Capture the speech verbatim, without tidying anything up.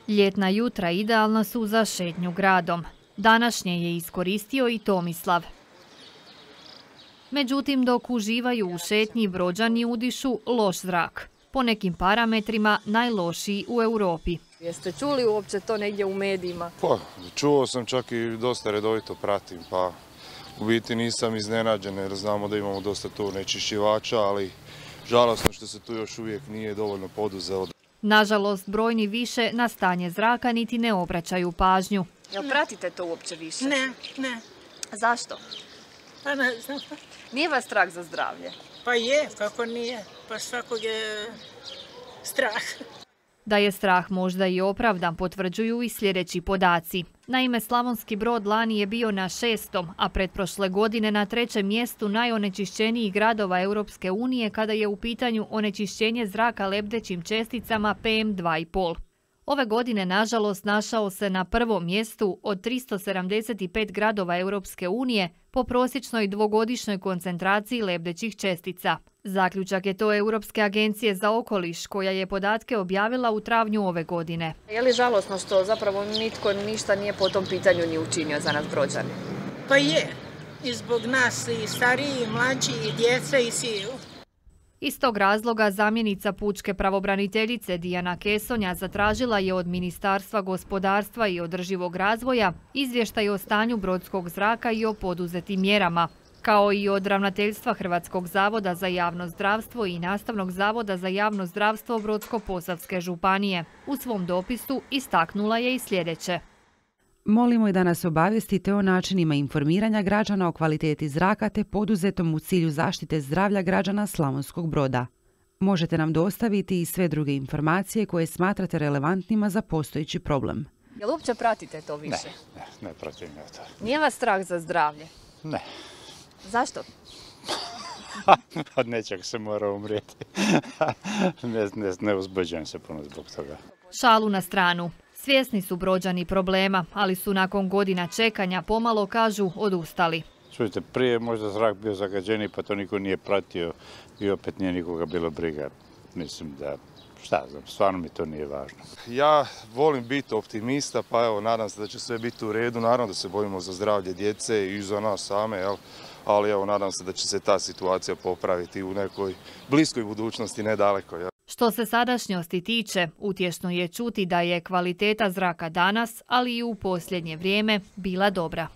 Ljetna jutra idealna su za šetnju gradom. Današnje je iskoristio i Tomislav. Međutim, dok uživaju u šetnji, Brođani udišu loš zrak. Po nekim parametrima najlošiji u Europi. Jeste čuli uopće to negdje u medijima? Pa, čuo sam, čak i dosta redovito pratim, pa u biti nisam iznenađen jer znamo da imamo dosta tu onečišćivača, ali žalosno što se tu još uvijek nije dovoljno poduzelo. Nažalost, brojni više na stanje zraka niti ne obraćaju pažnju. Jel pratite to uopće više? Ne, ne. Zašto? Pa ne znam. Nije vas strah za zdravlje? Pa je, kako nije. Pa svakog je strah. Da je strah možda i opravdan potvrđuju i sljedeći podaci. Naime, Slavonski Brod lani je bio na šestom, a pretprošle godine na trećem mjestu najonečišćenijih gradova Europske unije kada je u pitanju onečišćenje zraka lebdećim česticama P M dva i pol. Ove godine, nažalost, našao se na prvom mjestu od tristo sedamdeset pet gradova Europske unije po prosječnoj dvogodišnjoj koncentraciji lebdećih čestica. Zaključak je to Europske agencije za okoliš, koja je podatke objavila u travnju ove godine. Je li žalosno što zapravo nitko ništa nije po tom pitanju ni učinio za nas Brođane? Pa je. I zbog nas i stariji, i mlađi, i djeca, i svi. Iz tog razloga zamjenica pučke pravobraniteljice Dijana Kesonja zatražila je od Ministarstva gospodarstva i održivog razvoja izvještaj o stanju brodskog zraka i o poduzetim mjerama, kao i od Ravnateljstva Hrvatskog zavoda za javno zdravstvo i Nastavnog zavoda za javno zdravstvo Brodsko-posavske županije. U svom dopisu istaknula je i sljedeće. Molimo i da nas obavijestite o načinima informiranja građana o kvaliteti zraka te poduzetom u cilju zaštite zdravlja građana Slavonskog Broda. Možete nam dostaviti i sve druge informacije koje smatrate relevantnima za postojeći problem. Jel uopće pratite to više? Ne, ne, ne pratim ja to. Nije vas strah za zdravlje? Ne. Zašto? Od nečeg se mora umrijeti. ne, ne, ne uzbuđujem se puno zbog toga. Šalu na stranu. Svjesni su Brođani problema, ali su nakon godina čekanja pomalo, kažu, odustali. Čujte, prije možda zrak bio zagađeniji pa to niko nije pratio i opet nije nikoga bilo briga. Mislim da, šta znam, stvarno mi to nije važno. Ja volim biti optimista, pa evo, nadam se da će sve biti u redu. Naravno da se bojimo za zdravlje djece i za nas same, jel? Ali evo, nadam se da će se ta situacija popraviti u nekoj bliskoj budućnosti, nedaleko. Jel? Što se sadašnjosti tiče, utješno je čuti da je kvaliteta zraka danas, ali i u posljednje vrijeme, bila dobra.